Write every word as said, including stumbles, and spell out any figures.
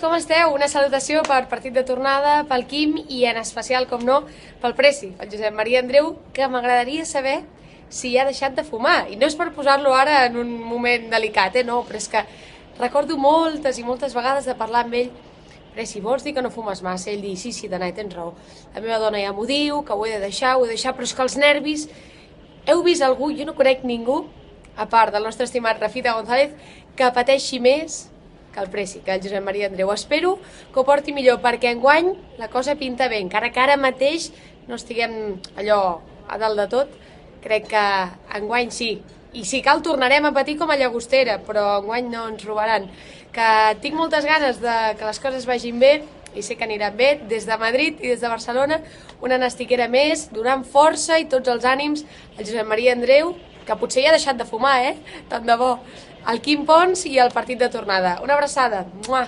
com esteu? Una salutació per partit de tornada, pel Quim i en especial, com no, pel Preci, el Josep Maria Andreu, que m'agradaria saber si ha deixat de fumar. I no és per posar-lo ara en un moment delicat, eh? No, però és que recordo moltes i moltes vegades de parlar amb ell. Preci, vols dir que no fumes massa? Ell diu, sí, sí, Danai, tens raó. La meva dona ja m'ho diu, que ho he de deixar, ho he de deixar, però és que els nervis... Heu vist algú, jo no conec ningú, a part del nostre estimat Rafita González, que pateixi més que el Preci, que el Josep Maria Andreu. Espero que ho porti millor, perquè enguany la cosa pinta bé, encara que ara mateix no estiguem allò a dalt de tot, crec que enguany sí. I si cal tornarem a patir com a Llagostera, però enguany no ens robaran. Que tinc moltes ganes de que les coses vagin bé, i sé que aniran bé, des de Madrid i des de Barcelona, una nastiquera més, donant força i tots els ànims al Josep Maria Andreu, que potser ja ha deixat de fumar, eh? Tant de bo. El Quim Pons i el partit de tornada. Una abraçada. Mua!